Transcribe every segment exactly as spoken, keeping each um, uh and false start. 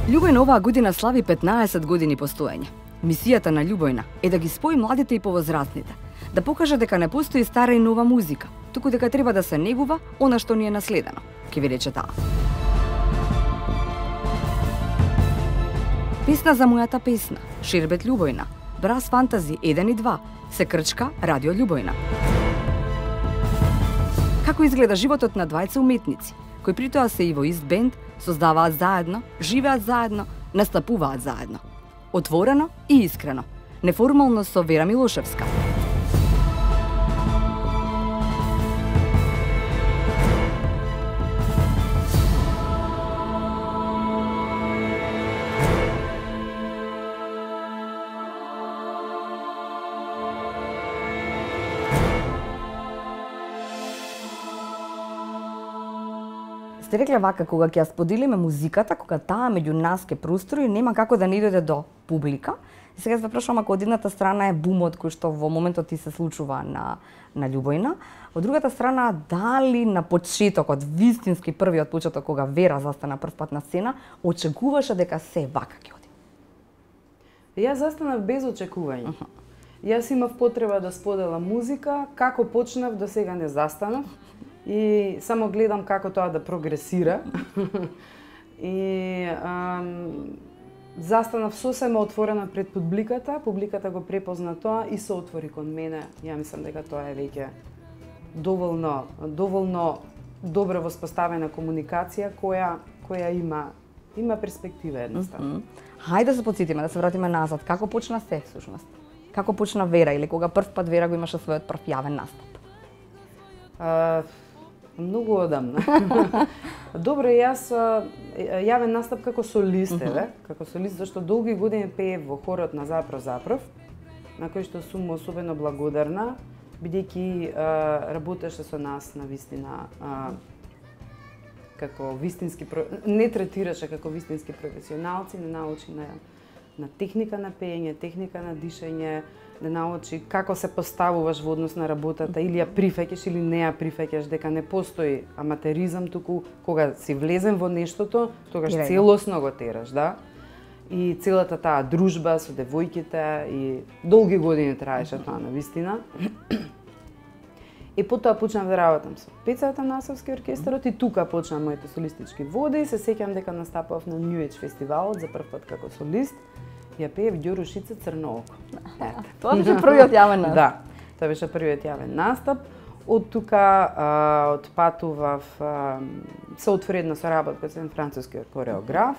Љубојна оваа година слави петнаесет години постоење. Мисијата на Љубојна е да ги спои младите и повозрастните, да покаже дека не постои стара и нова музика, туку дека треба да се негува она што ни е наследено, ќе ви рече таа. Песна за мојата песна, Шербет Љубојна, Брас Фантази еден и два, се крчка Радио Љубојна. Како изгледа животот на двајца уметници, кои при тоа се и во ист бенд, создаваат заедно, живеат заедно, настапуваат заедно. Отворено и искрено, неформално со Вера Милошевска. Сте рекле вака, кога ќе ја споделиме музиката, кога таа меѓу нас ке прострои, нема како да не дојде до публика. И сега се прашувам, ако од едната страна е бумот кој што во моментот ти се случува на, на Љубојна, од другата страна, дали на почетокот, вистински првиот почеток, кога Вера застана прв пат на сцена, очекуваше дека се вака ќе оди? Јас застанав без очекување. Uh-huh. Јас имав потреба да споделам музика, како почнав до сега не застанав. И само гледам како тоа да прогресира. И ам, застанав сосема отворена пред публиката, публиката го препозна тоа и се отвори кон мене. Ја мислам дека тоа е веќе доволно, доволно добро воспоставена комуникација која која има има перспектива едноставно. Mm-hmm. Хајде да се потсетиме, да се вратиме назад. Како почна се всушност? Како почна Вера или кога прв пат Вера го имаше својот прв јавен настап? Uh, Многу одамна. Добро, јас јавен настап како солист, еве, како солист, зашто долги години пеев во хорот на Запров Запров, на кој што сум особено благодарна, бидејќи работеше со нас на вистина а, како вистински не третираше како вистински професионалци, не научи на на техника на пеење, техника на дишење, да научи како се поставуваш во однос на работата, или ја прифаќаш или не ја прифаќаш, дека не постои аматеризам, туку кога си влезен во нештото, тогаш Ирена. Целосно го тераш, да? И целата таа дружба со девојките и долги години траеше тоа на вистина. И потоа почнав да работам со Пецата Насовски оркестарот и тука почна моите солистички води. Се сеќам дека настапував на New Age фестивалот за прв пат како солист. Ја пеев Ѓоро Шице Црно око. Тоа беше првиот јавен настап. Да, тоа беше првиот јавен настап. Од тука а, отпатував, а, се отвори една соработка со еден француски кореограф.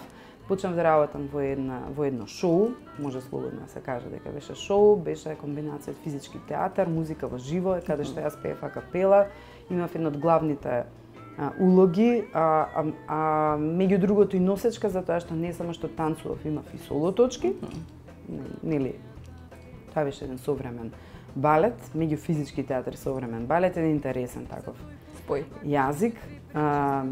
Почнав да работам во една во едно шоу, може слободно да се каже дека беше шоу, беше комбинација од физички театар, музика во живо, каде што јас пеев а капела. Имав една од главните а, улоги, а, а, а меѓу другото и носечка, затоа што не само што танцував, имав и соло точки. Нели, тоа беше еден современ балет, меѓу физички театар и современ балет, еден интересен таков спој јазик, а,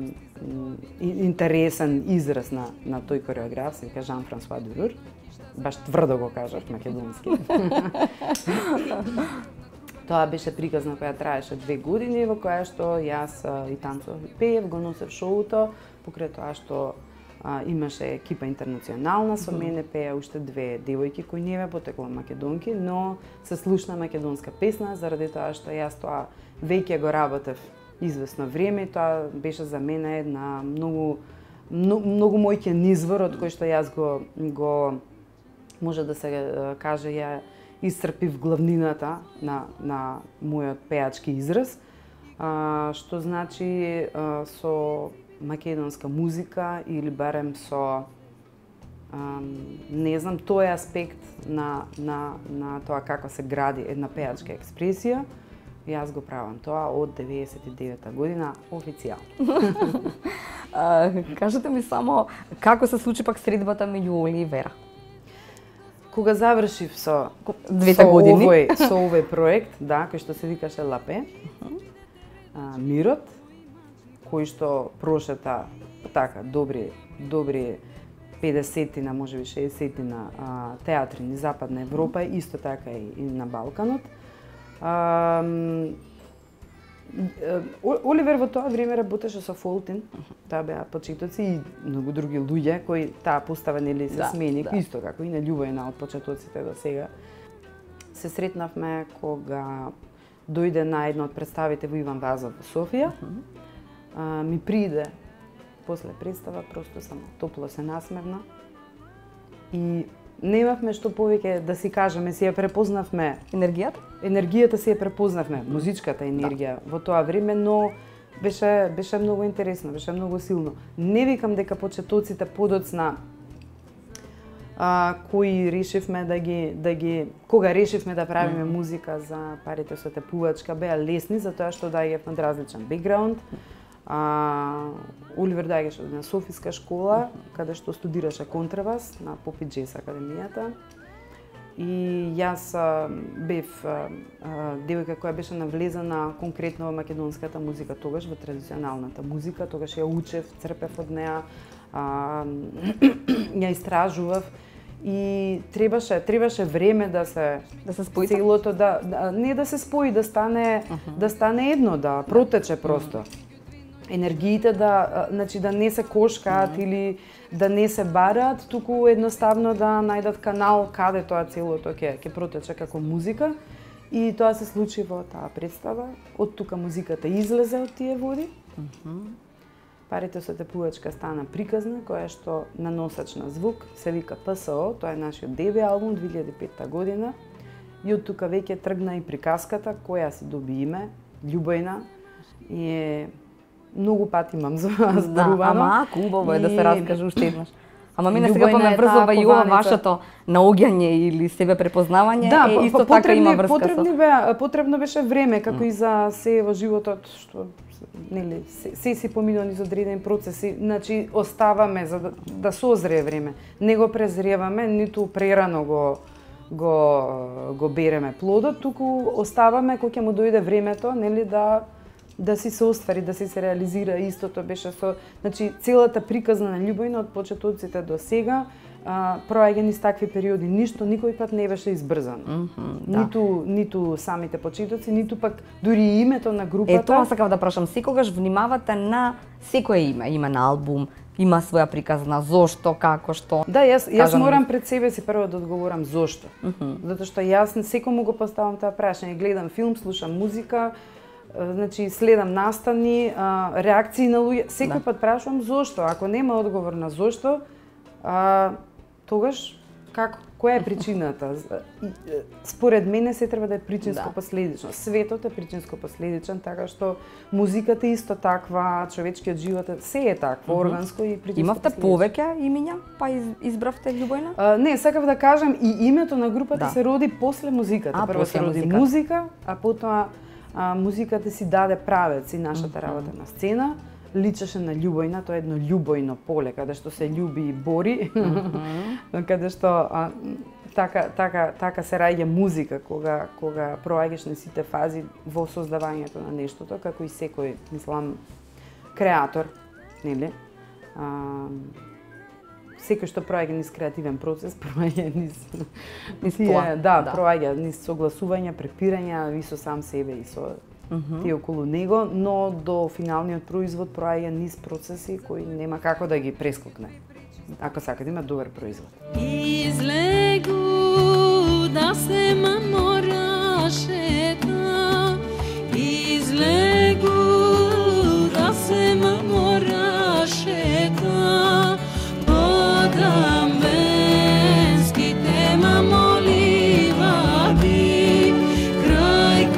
интересен израз на на тој кореограф, се вика Жан-Франсуа Дюрур. Баш тврдо го кажав македонски. Тоа беше приказна која траеше две години, во која што јас и танцував и пеев, го носев шоуто, покрај тоа што а, имаше екипа интернационална со мене, пеа уште две девојки кои не бе потекло македонки, но се слушна македонска песна, заради тоа што јас тоа веќе го работев известно време, тоа беше за мене една многу многу, многу мојќен извор од кој што јас го го може да се каже ја исцрпив главнината на на мојот пеачки израз, а, што значи а, со македонска музика или барем со а, не знам тој аспект на на на тоа како се гради една пеачка експресија. Јас го правам тоа од деветдесет и девета година официјално. Кажете ми само како се случи пак средбата меѓу Оли и Вера? Кога завршив со двете со години овој со овој проект, да, кој што се викаше Лапе, uh-huh. а, Мирот, кој што прошета така добри добри педесетина, можеби шеесетина театри низ Западна Европа, исто така и, и на Балканот. А, Оливер во тоа време работеше со Фолтин, таа беа почетоци и многу други луѓе кои таа постава нели се Да, смени, да. исто како и на Љубојна од почетоците до сега. Се сретнавме кога дојде на една од представите во Иван Вазов во Софија. А, ми приде после представа, просто само топло се насмевна. И немавме што повеќе да си кажеме, си ја препознавме. Енергијата? Енергијата си ја препознавме, музичката енергија да. Во тоа време, но беше беше многу интересно, беше многу силно. Не викам дека почетоците подоцна а, кои решивме да ги да ги кога решивме да правиме mm. музика за парите со тепувачка, беа лесни затоа што доаѓав од различен бекграунд. А, Оливер доаѓаше од една софиска школа, каде што студираше контрабас на Попи Джес академијата. И јас а, бев а, а, девојка која беше навлезена конкретно во македонската музика тогаш, во традиционалната музика, тогаш ја учев, црпев од неа, а, ја истражував и требаше требаше време да се да се спои целото да, да не да се спои, да стане uh -huh. да стане едно, да протече просто. Uh -huh. Енергиите да, значи да не се кошкаат mm -hmm. или да не се бараат, туку едноставно да најдат канал каде тоа целото ќе ќе протече како музика. И тоа се случи во таа представа. Од тука музиката излезе од тие води. Mm -hmm. Парите со тепувачка стана приказна, која што на носач на звук се вика П С О, тоа е нашиот дебе албум две илјади и петта година. И од тука веќе тргна и приказката која си доби име Љубојна и е многу пати имам зборувано. Да, ама ако убаво е да се раскаже уште еднаш. Ама мене сега Љубојна па ме е врзува таа и ова кованица. вашето наоѓање или себе препознавање, Да, е исто по- така потребни, има врска потребни со... беа, потребно беше време, како и за се во животот, што нели се, се си поминува низ одредени процеси, значи оставаме за да, да созрее време. Не го презреваме, ниту прерано го го го береме плодот, туку оставаме кога ќе му дојде времето, нели да да си се оствари, да си се реализира. Истото беше со, значи целата приказна на Љубојна од почетоците до сега, а, проаѓа низ такви периоди, ништо никој пат не беше избрзано. Mm -hmm, да. Ниту ниту самите почетоци, ниту пак дури името на групата. Е, тоа сакав да прашам, секогаш внимавате на секое име, има на албум, има своја приказна, зошто, како, што. Да, јас јас Кажам, морам пред себе си прво да одговорам зошто. Mm -hmm. Затоа што јас секому го поставам тоа прашање, гледам филм, слушам музика, значи следам настани, реакции на луѓе, секој да. Пат прашувам зошто. Ако нема одговор на зошто, а, тогаш како која е причината? Според мене се треба да е причинско последично. Светот е причинско последичен, така што музиката е исто таква, човечкиот живот е се е такво, mm -hmm. органско и причинско. Имавте повеќе имиња, па из, избравте Љубојна? А, не, сакав да кажам и името на групата да. се роди после музиката. А, Прво после се роди музиката. музика, а потоа а, музиката си даде правец и нашата работа на сцена. Личеше на Љубојна, тоа е едно љубојно поле, каде што се љуби и бори, mm -hmm. каде што а, така, така, така се раѓа музика, кога, кога проаѓаш на сите фази во создавањето на нештото, како и секој, мислам, креатор, нели? А, секој што проаѓа низ креативен процес, проаѓа низ низ тие, тоа. да, да, проаѓа низ согласување, препирања и со сам себе и со Mm -hmm. тие околу него, но до финалниот производ проаѓа низ процеси кои нема како да ги прескокне, ако сака да има добар производ. Излегу да се мамораше та, излегу да се мамораше та, подам венските мамоливади, крај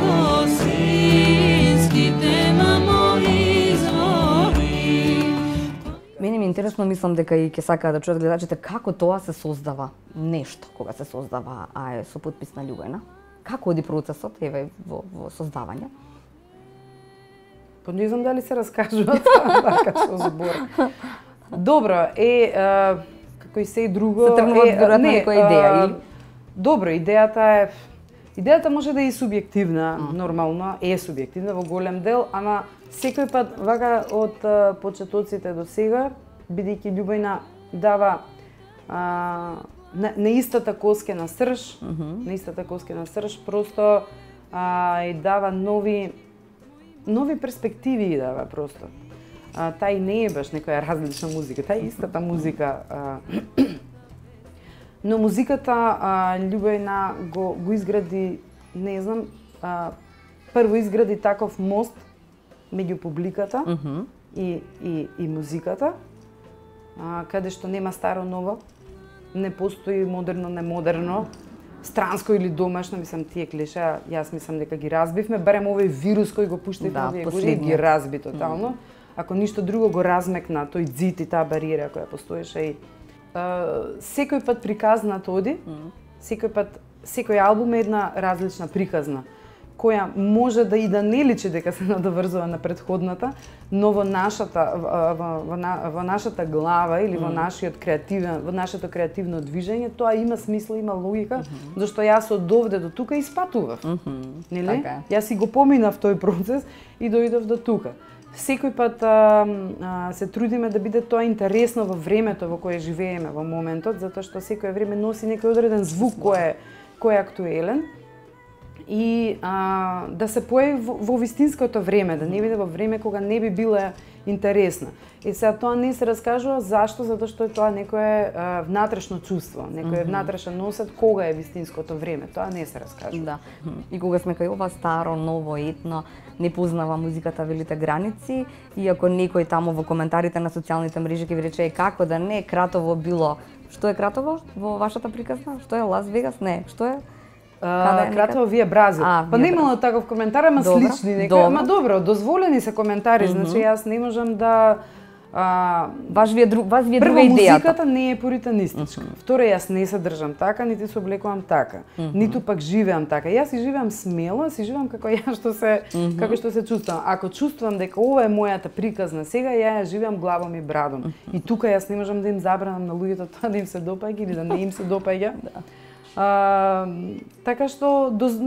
Мене ми е интересно, мислам дека и ќе сакаат да чуат гледачите како тоа се создава нешто кога се создава, а е со потпис на Љубојна. Како оди процесот еве во, во создавање? Па не знам дали се раскажува така со збор. Добро, е, а, како и се и друго, се тргнува веројатно некоја идеја или? Добро, идејата е идејата може да е и субјективна, mm. нормално е субјективна во голем дел, ама секој пат вака од а, почетоците до сега, бидејќи Љубојна дава а, на, на истата коскена срж, mm -hmm. на истата коскена срж, просто а, и дава нови нови перспективи идева просто. А, тај не е баш некоја различна музика, тај е истата музика. А, но музиката а, Љубојна го, го изгради, не знам, а, прво изгради таков мост меѓу публиката Mm -hmm. и, и, и музиката, а, каде што нема старо ново, не постои модерно, немодерно, странско или домашно, мислам тие клише, јас мислам дека ги разбивме, барем овој вирус кој го пуштивме Да, овие години ги разби тотално. Ако ништо друго го размекна тој ѕид и таа бариера која постоеше и а, секој пат приказната оди, секој пат секој албум е една различна приказна која може да и да не личи дека се надоврзува на претходната, но во нашата во, во, во, во нашата глава или во нашиот креативен во нашето креативно движење тоа има смисла, има логика, mm -hmm. зашто јас од довде до тука испатував. Mm -hmm. Нели? Така. Јас си го поминав тој процес и дојдов до тука. Секој пат а, а, се трудиме да биде тоа интересно во времето во кое живееме во моментот, затоа што секое време носи некој одреден звук кој е кој е актуелен. И а, да се појави во, во вистинското време, да не биде во време кога не би била интересна. И сега тоа не се раскажува зашто, затоа што е тоа некое а, внатрешно чувство, некој mm -hmm. внатрешен носет кога е вистинското време, тоа не се раскажува. Да. И кога сме кај ова старо, ново, етно, не познава музиката велите граници, и ако некој таму во коментарите на социјалните мрежи ќе ви рече како да не Кратово било. Што е Кратово во вашата приказна? Што е Лас Вегас? Не, што е? Uh, Кратово вие Бразил. А, па не имало таков коментар, ама добро, слични некои. добро. Ама добро, дозволени се коментари, mm -hmm. значи јас не можам да а, Ваш ви е друг, вас ви е прво, друга идејата. музиката не е пуританистичка. Mm -hmm. Второ, јас не се држам така, нити се облекувам така, mm -hmm. ниту пак живеам така. Јас си живеам смело, си живеам како ја што се mm -hmm. како што се чувствувам. Ако чувствувам дека ова е мојата приказна сега, ја ја живеам главом и брадом. Mm -hmm. И тука јас не можам да им забранам на луѓето тоа да им се допаѓа или да не им се допаѓа. Да. А, така што доз,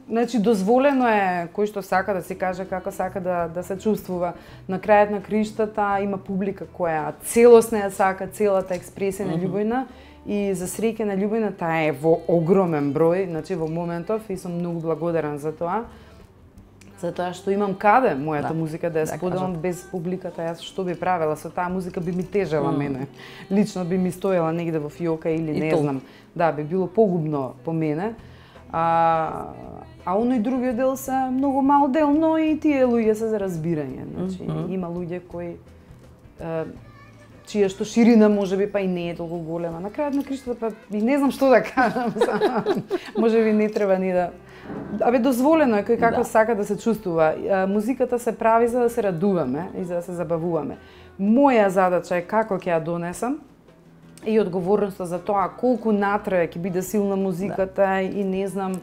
значи дозволено е кој што сака да се каже како сака да да се чувствува. На крајот на криштата има публика која целосно ја сака целата експресија на Љубојна и за среќа на Љубојна таа е во огромен број, значи во моментов и сум многу благодарен за тоа. Затоа што имам каде мојата да, музика да ја да споделам без публиката, јас што би правела со таа музика би ми тежела mm. мене. Лично би ми стоела негде во фиока или и не то. Знам. Да, би било погубно по мене. А, а оној другиот дел се многу мал дел, но и тие луѓе се за разбирање. Значи, mm -hmm. има луѓе кои е, чија што ширина можеби па и не е толку голема. На крајот на криштата па и не знам што да кажам. Можеби не треба ни да Абе, дозволено е кој како да. Сака да се чувствува. Музиката се прави за да се радуваме и за да се забавуваме. Моја задача е како ќе ја донесам и одговорноста за тоа колку натрае ќе биде силна музиката да. И не знам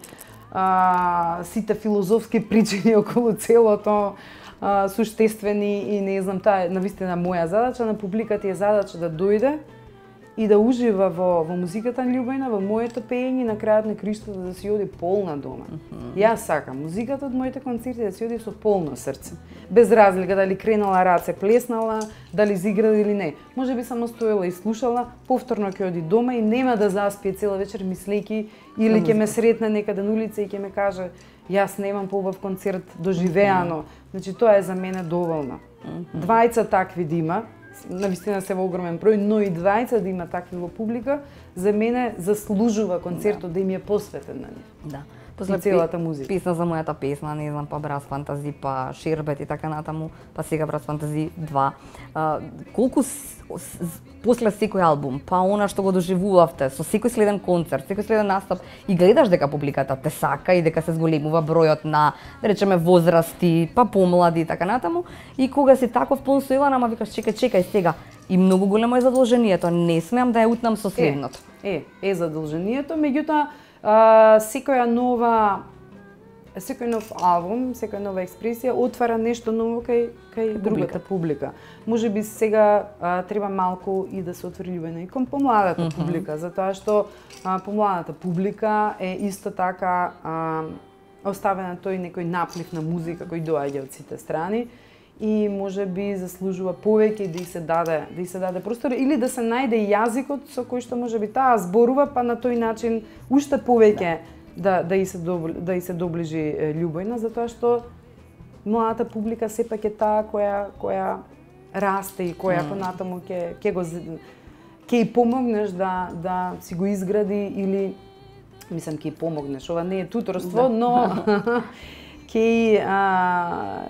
а, сите филозофски причини околу целото а, суштествени и не знам, таа е навистина моја задача, на публиката е задача да дојде и да ужива во, во музиката на Љубојна, во моето пеење, на крајот на криштата да си оди полна дома. Mm -hmm. Јас сакам музиката од моите концерти да си оди со полно срце. Без разлика дали кренала раце, плеснала, дали изиграла или не. Може би само стоела и слушала, повторно ќе оди дома и нема да заспие цела вечер мислејќи или ќе ме сретне некаде на улица и ќе ме каже јас немам поубав концерт доживеано. Mm -hmm. Значи тоа е за мене доволно. Mm -hmm. Двајца такви да има, навистина се во огромен број, но и двајца да има такви во публика, за мене заслужува концертот да, да им е посветен на нив. Да. После целата музика. Песна за мојата песна, не знам, па Брас Фантази, па Шербет и така натаму, па сега Брас Фантази два. А, колку с, с, после секој албум, па она што го доживувавте, со секој следен концерт, секој следен настап, и гледаш дека публиката те сака и дека се зголемува бројот на, да речеме, возрасти, па помлади и така натаму, и кога си таков пун со Ивана, ама викаш чекај, чекај сега, и многу големо е задолжението, не смеам да ја утнам со следното. Е, е, е задолжението, меѓутоа Uh, секоја нова секој нов албум, секоја нова експресија отвара нешто ново кај кај другата публика. Можеби сега uh, треба малку и да се отвори Љубојна и кон помладата mm -hmm. публика, затоа што uh, помладата публика е исто така uh, оставена тој некој наплив на музика кој доаѓа од сите страни и можеби заслужува повеќе да и се даде, да и се даде простор или да се најде јазикот со кој што можеби таа зборува, па на тој начин уште повеќе да да, да и се добли, да и се доближи Љубојна, затоа што младата публика сепак е таа која која расте и која Mm. понатаму ќе ќе го з- ќе и помогнеш да да си го изгради или мислам ќе и помогнеш. Ова не е туторство, но ќе а,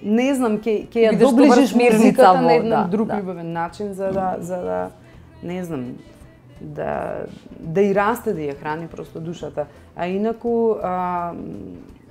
не знам, ќе ќе ја Бидеш добра доближиш смирница музиката во- на еден да, друг да. љубовен начин за да за да не знам да да и расте, да ја храни просто душата. А инаку а,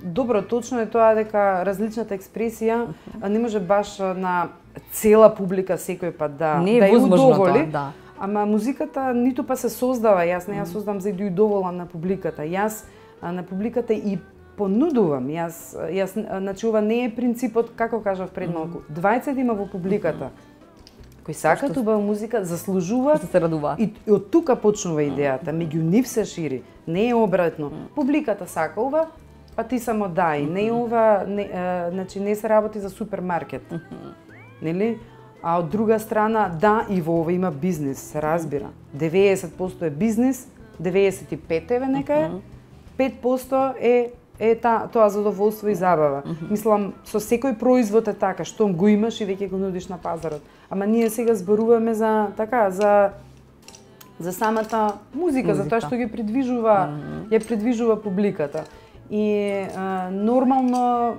добро, точно е тоа дека различната експресија а, не може баш на цела публика секој пат да Не е да ја возможно удоволи. тоа, да. Ама музиката ниту па се создава, јас не ја создам за да ја удоволам на публиката. Јас а, на публиката и понудувам. Јас јас а, значи ова не е принципот како кажав пред малку. дваесет има во публиката кои сакаат убава музика, заслужуваат Што се радуваат. и, и од тука почнува идејата. Меѓу нив се шири. Не е обратно. Публиката сака ова, па ти само дај. Не е ова, не, а, значи не се работи за супермаркет. Нели? А од друга страна, да, и во ова има бизнис, се разбира. деветдесет проценти е бизнис, деветдесет и пет еве нека е, пет проценти е е та, тоа задоволство и забава. Мислам, со секој производ е така, штом го имаш и веќе го нудиш на пазарот. Ама ние сега зборуваме за така, за за самата музика, Музика. за тоа што ги придвижува, ја придвижува публиката. И а, нормално, м,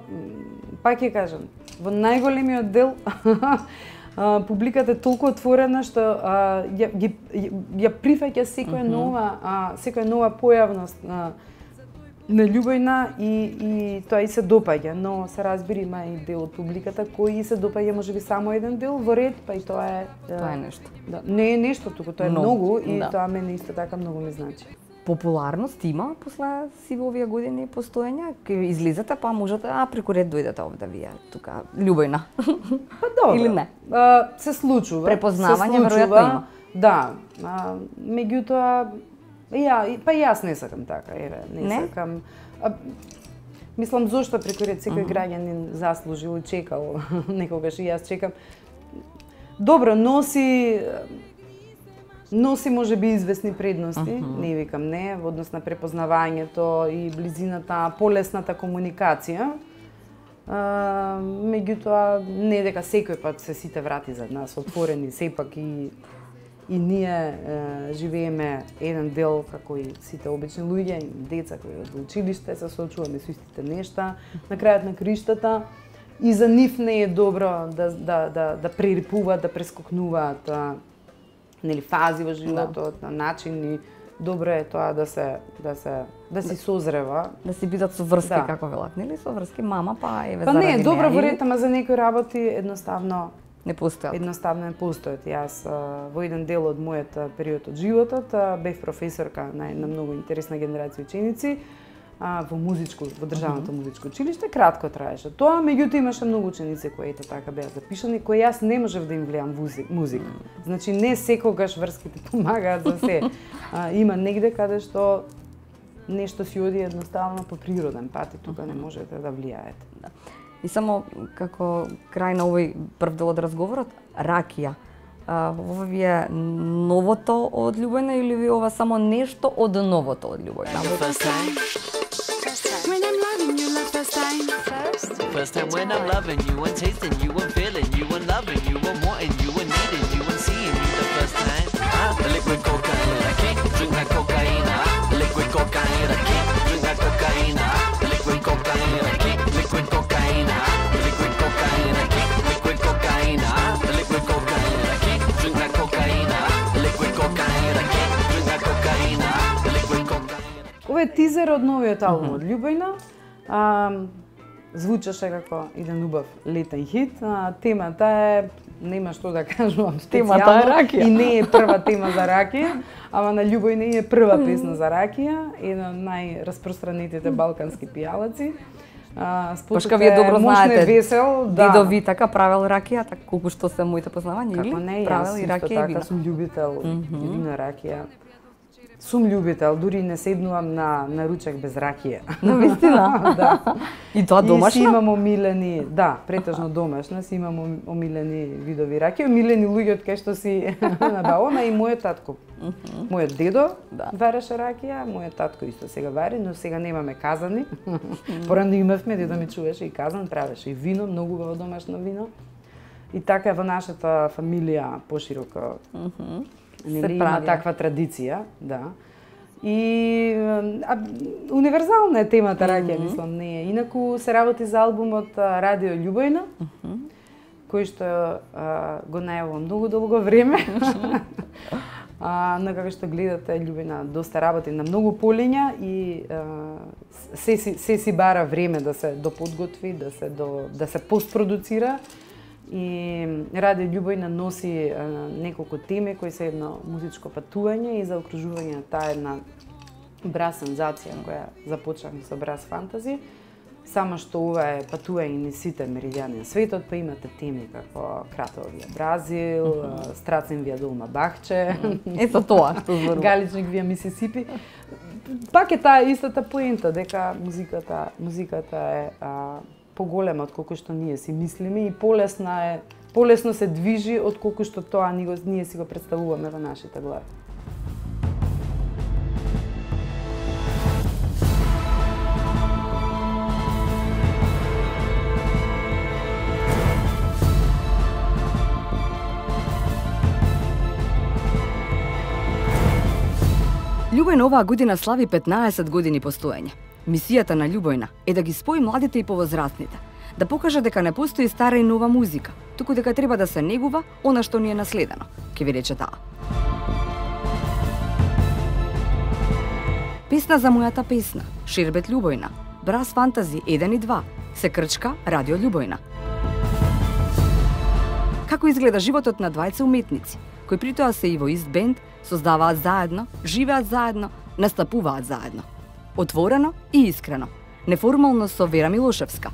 пак ќе кажам, во најголемиот дел а, публиката е толку отворена што а, ја, ги, ја, ја прифаќа секоја нова, а, секоја нова појавност а, на љубовна и, и тоа и се допаѓа, но се разбира има и дел од публиката кој и се допаѓа можеби само еден дел во ред, па и тоа е Тоа е нешто. Да, не е нешто, туку тоа е Многу, многу и да. тоа мене исто така многу ми значи. Популарност има после сиве овие години постоење, ке излизате па можете а преку ред дојдете овде вие тука љубовна. Па добро. Или не? А, се случува. Препознавање се случува, веројатно има. Да. А, меѓутоа ја, и- па и јас не сакам така, еве, не, Не? сакам. А, мислам зошто преку ред секој граѓанин заслужил и чекал, некогаш и јас чекам. Добро, носи носи можеби известни предности, не викам не, во однос на препознавањето и близината, полесната комуникација. А, меѓутоа, не дека секој пат се сите врати за нас отворени, сепак и и ние е, живееме еден дел како и сите обични луѓе, и деца кои од училиште се соочуваме со истите нешта, на крајот на криштата и за нив не е добро да да да да прерипуваат, да прескокнуваат а, нели фази во животот, на начини. Добро е тоа да се да се да си созрева. Да си бидат соврски Да. како велат, нели? Соврски мама па еве Па заради не, добро неа, во или ред, ама за некои работи едноставно не постојат. едноставно не постојат. Јас а, во еден дел од мојот а, период од животот а, бев професорка на една многу интересна генерација ученици а, во музичко, во државното музичко училиште, кратко траеше тоа, меѓутоа имаше многу ученици кои ете така беа запишани, кои јас не можев да им влијам музик, музика. Значи не секогаш врските помагаат за се. А, има негде каде што нешто си оди едноставно по природен пат и тука не можете да влијаете. И само како крај на овој прв дел од разговорот, ракија. А, ова ви е новото од љубовна или ви ова само нешто од новото од љубовна? First time, When I'm loving you, love first time. first time when I'm loving you and tasting you and feeling you and loving you and wanting you and needing you and seeing you the first time. Ah, the liquid cocaine, I can't drink that cocaine. Ah, the liquid cocaine, I can't drink that cocaine. Ah, the liquid cocaine, I can't liquid cocaine. Ah, the liquid cocaine, I can't liquid cocaine. Ah, the liquid cocaine, I can't drink that cocaine. Ah, the liquid cocaine, I can't drink that cocaine. Ah, the liquid cocaine. Ова е тизер од новиот албум од Љубовна. А, звучеше како еден убав летен хит. А, темата е, нема што да кажувам специјално. Темата е ракија. И не е прва тема за ракија, ама на Љубовна е прва песна за ракија, една од најраспространетите балкански пијалаци. А, Пошка вие добро мощно е знаете, весел, да. Дедо ви така правел ракија, така колку што се моите познавања, или? Како не, јас правел и исто ракија и така вино. сум љубител mm -hmm. на ракија. Сум љубител, дури не седнувам на, на ручек без ракија. На вистина? Да. И тоа домашно? И си имам омилени, да, претежно домашно, си имам омилени видови ракија, омилени луѓе од кај што си набавам, и мојот татко. Мојот дедо Да. вареше ракија, мојот татко исто сега вари, но сега немаме казани. Порано имавме, дедо ми чуваше и казан, правеше и вино, многу убаво домашно вино. И така во нашата фамилија пошироко нели, има прави. таква традиција, да. И а, универзална е темата ракија, мислам, не е. Инаку се работи за албумот а, Радио Љубојна, кој што а, го најавувам многу долго време. А, на како што гледате, Љубојна доста работи на многу полиња и а, се, си, се си бара време да се доподготви, да се, до, да се постпродуцира. И Радио Љубојна носи а, неколку теми кои се едно музичко патување и заокружување на таа една браз сензација која започнахме со браз фантази. Само што ова е патување низ сите меридијани на светот, па имате теми како Кратовија Бразил, mm -hmm. Страцен вија долма Бахче, Ето тоа што зборува. Галичник вија Мисисипи. Пак е таа истата поента дека музиката, музиката е а, поголема од колку што ние си мислиме и полесна е, полесно се движи од колку што тоа ние, ние си го представуваме во нашите глави. Љубојна оваа година слави петнаесет години постоење. Мисијата на Љубојна е да ги спои младите и повозрастните, да покаже дека не постои стара и нова музика, туку дека треба да се негува она што ни е наследено, ќе ви рече таа. Песна за мојата песна, Шербет Љубојна, Браз фантази еден и два, се крчка Радио Љубојна. Како изгледа животот на двајца уметници, кои притоа се и во ист бенд, создаваат заедно, живеат заедно, настапуваат заедно. Отворено и искрено, неформално со Вера Милошевска,